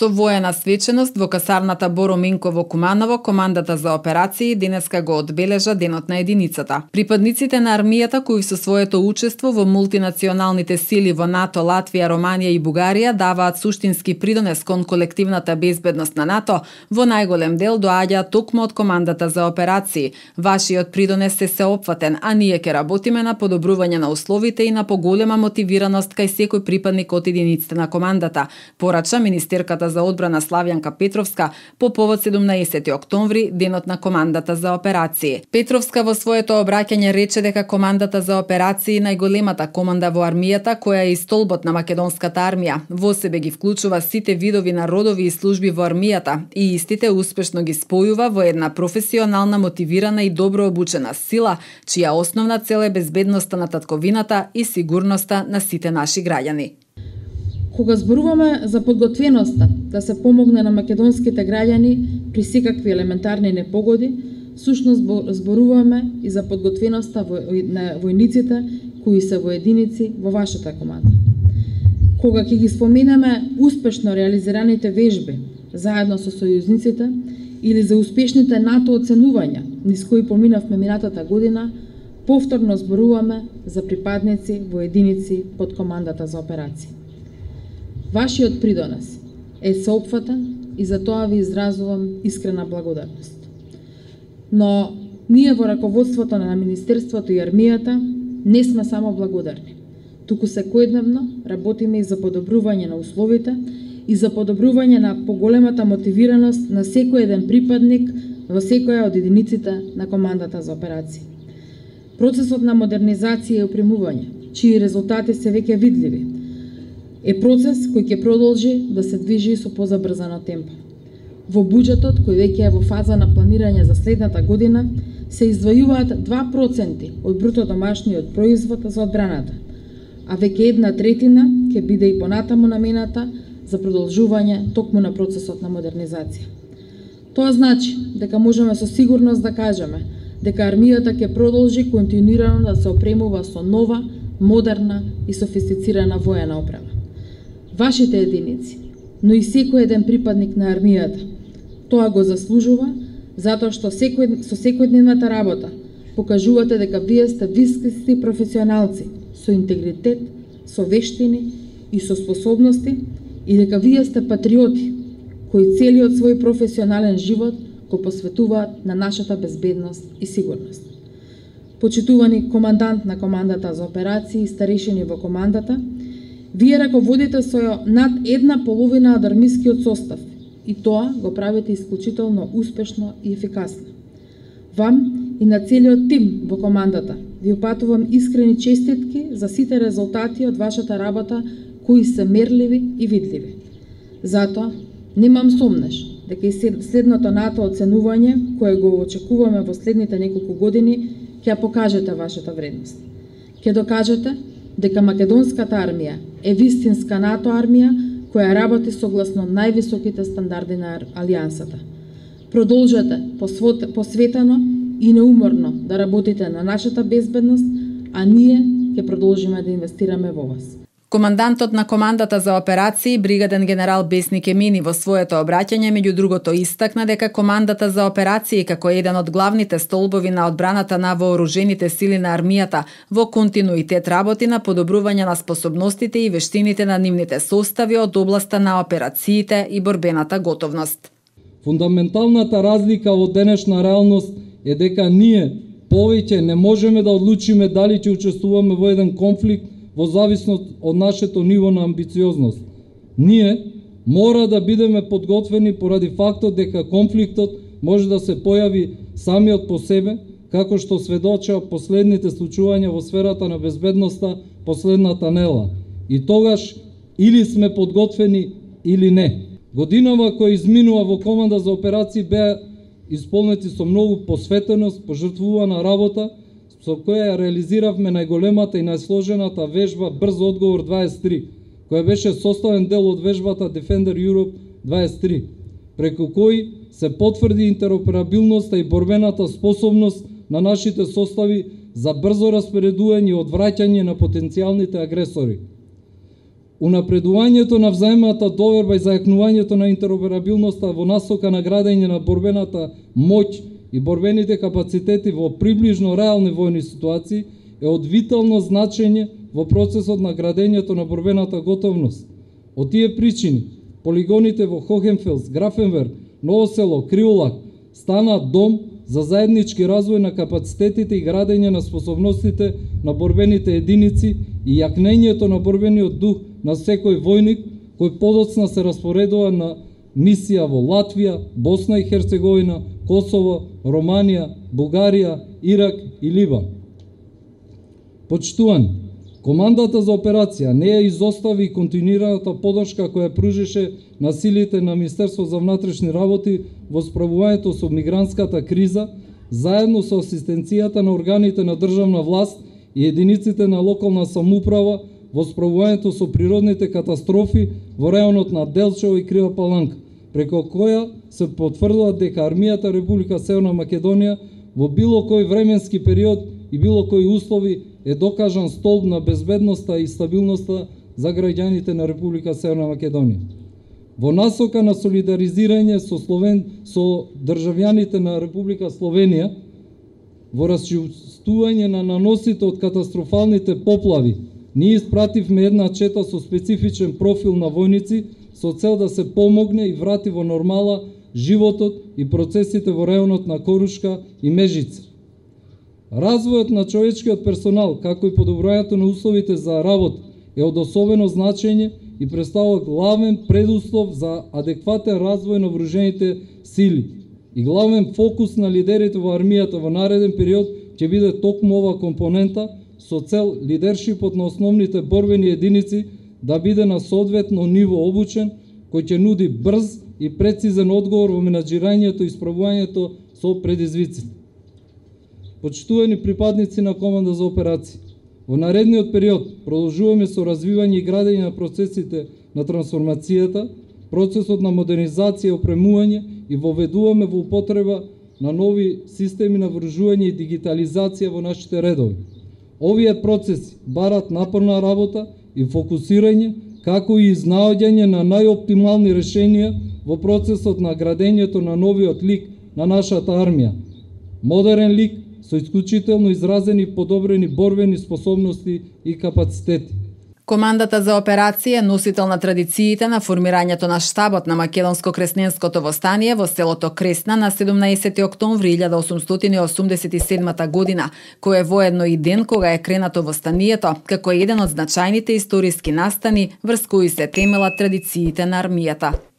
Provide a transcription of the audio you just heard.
Со воена свеченост во касарната Боро Минко во Куманово, командата за операции денеска го одбележа Денот на единицата. Припадниците на армијата кои со своето учество во мултинационалните сили во НАТО, Латвија, Романија и Бугарија даваат суштински придонес кон колективната безбедност на НАТО, во најголем дел доаѓаат токму од командата за операции. Вашиот придонес е сеопфатен, а ние ќе работиме на подобрување на условите и на поголема мотивираност кај секој припадник од единиците на командата, порача министерката за одбрана Славјанка Петровска по повод 17 октомври, денот на командата за операции. Петровска во своето обраќање рече дека командата за операции најголемата команда во армијата, која е и столбот на македонската армија, во себе ги вклучува сите видови на родови и служби во армијата и истите успешно ги спојува во една професионална, мотивирана и добро обучена сила, чија основна цел е безбедноста на татковината и сигурноста на сите наши граѓани. Кога зборуваме за подготвеноста да се помогне на македонските граѓани при секакви елементарни непогоди, всушност зборуваме и за подготвеноста на војниците кои се во единици во вашата команда. Кога ќе ги споменеме успешно реализираните вежби заедно со сојузниците или за успешните НАТО оценувања низ кои поминавме минатата година, повторно зборуваме за припадници во единици под командата за операции. Вашиот придонес е сеопфатен и за тоа ви изразувам искрена благодарност. Но ние во раководството на Министерството и армијата не сме само благодарни, туку секојдневно работиме и за подобрување на условите и за подобрување на поголемата мотивираност на секој еден припадник во секоја од единиците на командата за операции. Процесот на модернизација и опремување, чии резултати се веќе видливи, е процес кој ќе продолжи да се движи со позабрзано темпо. Во буџетот, кој веќе е во фаза на планирање за следната година, се издвојуваат 2% од бруто домашниот производ за одбраната, а веќе 1/3 ќе биде и понатаму намената за продолжување токму на процесот на модернизација. Тоа значи дека можеме со сигурност да кажеме дека армијата ќе продолжи континуирано да се опремува со нова, модерна и софистицирана воена опрема. Вашите единици, но и секој еден припадник на армијата, тоа го заслужува затоа што со секојдневната работа покажувате дека вие сте високи професионалци со интегритет, со вештини и со способности и дека вие сте патриоти кои целиот свој професионален живот го посветуваат на нашата безбедност и сигурност. Почитувани командант на командата за операции и старешини во командата, вие раководите со над 1/2 од армискиот состав и тоа го правите исклучително успешно и ефикасно. Вам и на целиот тим во командата ви упатувам искрени честитки за сите резултати од вашата работа кои се мерливи и видливи. Затоа, немам сомнеш дека и следното НАТО оценување, кое го очекуваме во следните неколку години, ќе покажете вашата вредност. Ќе докажете дека македонската армија е вистинска НАТО армија која работи согласно највисоките стандарди на Алијансата. Продолжете посветено и неуморно да работите на нашата безбедност, а ние ќе продолжиме да инвестираме во вас. Командантот на командата за операции, бригаден генерал Бесник Емини, во своето обраќање меѓу другото истакна дека командата за операции како еден од главните столбови на одбраната на вооружените сили на армијата во континуитет работи на подобрување на способностите и вештините на нивните состави од областа на операциите и борбената готовност. Фундаменталната разлика во денешна реалност е дека ние повеќе не можеме да одлучиме дали ќе учествуваме во еден конфликт во зависност од нашето ниво на амбициозност. Ние мора да бидеме подготвени поради фактот дека конфликтот може да се појави самиот по себе, како што сведоча последните случувања во сферата на безбедноста последната нела. И тогаш или сме подготвени или не. Годинава која изминува во команда за операции беа исполнети со многу посветеност, пожртвувана работа, со која реализиравме најголемата и најсложената вежба Брз одговор 23, која беше составен дел од вежбата Defender Europe 23, преку кој се потврди интероперабилноста и борбената способност на нашите состави за брзо распоредување и одвраќање на потенцијалните агресори. Унапредувањето на взаемната доверба и зајакнувањето на интероперабилноста во насока на градење на борбената моќ и борбените капацитети во приближно реални војни ситуации е од витално значење во процесот на градењето на борбената готовност. Од тие причини, полигоните во Хохенфелс, Графенверк, Ново село, Криолак стана дом за заеднички развој на капацитетите и градење на способностите на борбените единици и јакнењето на борбениот дух на секој војник кој подоцна се распоредува на мисија во Латвија, Босна и Херцеговина, Косово, Романија, Бугарија, Ирак и Либан. Почитувани, командата за операција не ја изостави и континуираната подршка која пружеше на силите на Министерство за внатрешни работи во справувањето со мигрантската криза, заедно со асистенцијата на органите на државна власт и единиците на локална самоуправа во справувањето со природните катастрофи во районот на Делчево и Крива Паланка, преку која се потврдува дека армијата Република Северна Македонија во било кој временски период и било кои услови е докажан столб на безбедноста и стабилноста за граѓаните на Република Северна Македонија. Во насока на солидаризирање со државјаните на Република Словенија, во расчистување на наносите од катастрофалните поплави, ние испративме една чета со специфичен профил на војници со цел да се помогне и врати во нормала животот и процесите во рајонот на Корушка и Межица. Развојот на човечкиот персонал, како и подобрувањето на условите за работа, е од особено значење и представува главен предуслов за адекватен развој на вооружените сили. И главен фокус на лидерите во армијата во нареден период ќе биде токму ова компонента со цел лидершипот на основните борбени единици да биде на соодветно ниво обучен, кој ќе нуди брз и прецизен одговор во менаџирањето и справувањето со предизвиците. Почитувани припадници на команда за операции, во наредниот период продолжуваме со развивање и градење на процесите на трансформацијата, процесот на модернизација и опремување и воведуваме во употреба на нови системи на вооружување и дигитализација во нашите редови. Овие процеси барат напорна работа и фокусирање, како и изнаоѓање на најоптимални решенија во процесот на градењето на новиот лик на нашата армија. Модерен лик со исклучително изразени и подобрени борбени способности и капацитети. Командата за операција е носител на традициите на формирањето на штабот на Македонско-кресненското востание во селото Кресна на 17 октомври 1887 година, кој е воедно и ден кога е кренато востанието, како еден од значајните историски настани врз кои се темелат традициите на армијата.